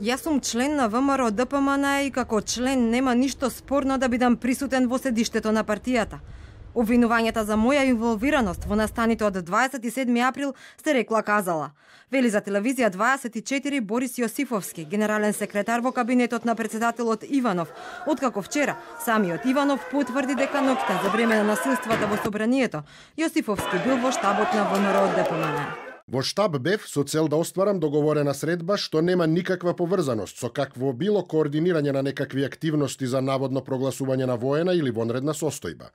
Јас сум член на ВМРО ДПМН и како член нема ништо спорно да бидам присутен во седиштето на партијата. Обвинувањата за моја инволвираност во настаните од 27 април сте рекла казала. Вели за телевизија 24 Борис Јосифовски, генерален секретар во кабинетот на председателот Иванов, откако вчера самиот Иванов потврди дека ноќта за време на насилствата во собранието, Јосифовски бил во штабот на ВМРО ДПМН. Во штаб бев со цел да остварам договорена средба што нема никаква поврзаност со какво било координирање на некакви активности за наводно прогласување на воена или вонредна состојба.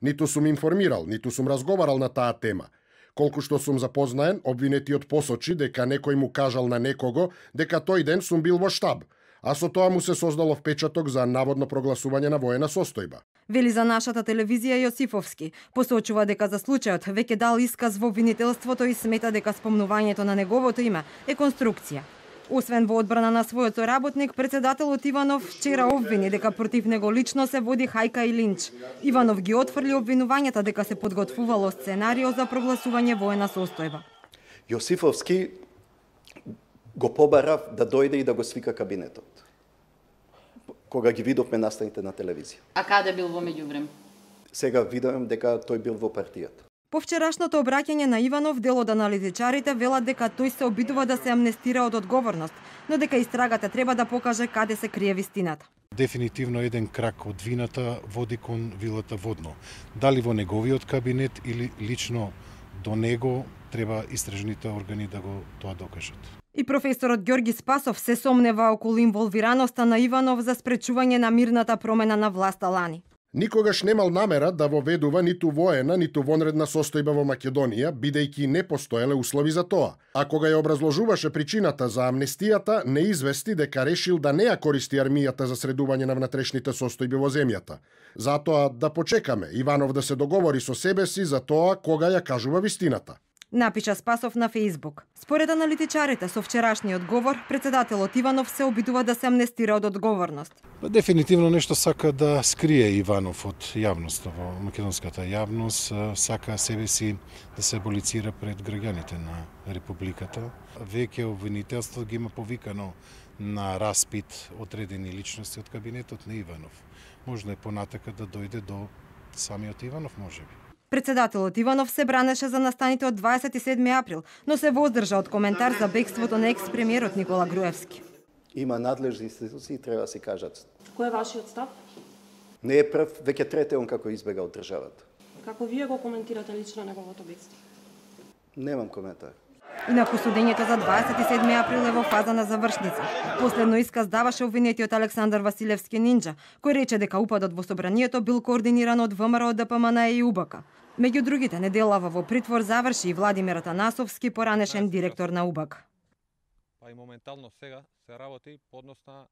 Ниту сум информирал, ниту сум разговарал на таа тема. Колку што сум запознаен, обвинетиот посочи дека некој му кажал на некого дека тој ден сум бил во штаб, а со тоа му се создало впечаток за наводно прогласување на воена состојба. Вели за нашата телевизија Јосифовски, посочува дека за случајот веќе дал исказ во обвинителството и смета дека спомнувањето на неговото име е конструкција. Освен во одбрана на својот соработник, председателот Иванов вчера обвини дека против него лично се води хајка и линч. Иванов ги отфрли обвинувањата дека се подготвувало сценарио за прогласување воена состојба. Јосифовски го побарав да дојде и да го свика кабинетот. Кога ги видовме настаните на телевизија. А каде бил во меѓувреме? Сега видам дека тој бил во партијата. По вчерашното обраќање на Иванов, дел од аналитичарите велат дека тој се обидува да се амнестира од одговорност, но дека истрагата треба да покаже каде се крие вистината. Дефинитивно еден крак од вината води кон вилата Водно. Дали во неговиот кабинет или лично до него, треба истражните органи да го тоа докажат. И професорот Ѓорги Спасов се сомнева околу инволвираноста на Иванов за спречување на мирната промена на власта лани. Никогаш немал намера да воведува ниту воена, ниту вонредна состојба во Македонија, бидејќи не постоеле услови за тоа. А кога ја образложуваше причината за амнестијата, не извести дека решил да не ја користи армијата за средување на внатрешните состојби во земјата. Затоа да почекаме Иванов да се договори со себе си за тоа кога ја кажува вистината. Напиша Спасов на Фејсбук. Според аналитичарите, со вчерашниот говор, председателот Иванов се обидува да се амнестира од одговорност. Дефинитивно нешто сака да скрие Иванов од јавноста, во македонската јавност, сака себе си да се аболицира пред граѓаните на републиката. Веќе обвинителство ги има повикано на распит одредени личности од кабинетот на Иванов. Можно е понатака да дојде до самиот Иванов, можеби. Председателот Иванов се бранеше за настаните од 27 април, но се воздржа од коментар за бегството на екс-премиерот Никола Груевски. Има надлежни институции, треба да се кажат. Кој е вашиот став? Не е прв, веќе трети он како избега од државата. Како вие го коментирате лично неговото бегство? Немам коментар. Инаку судењето за 27 април е во фаза на завршница. Последно исказ даваше обвинетиот Александар Василевски Нинџа, кој рече дека упадот во собранието бил координиран од ВМРО ДПМН и УБК. Меѓу другите, неделава во притвор заврши и Владимир Атанасовски, поранешен директор на УБК. Па и моментално сега се работи поднос на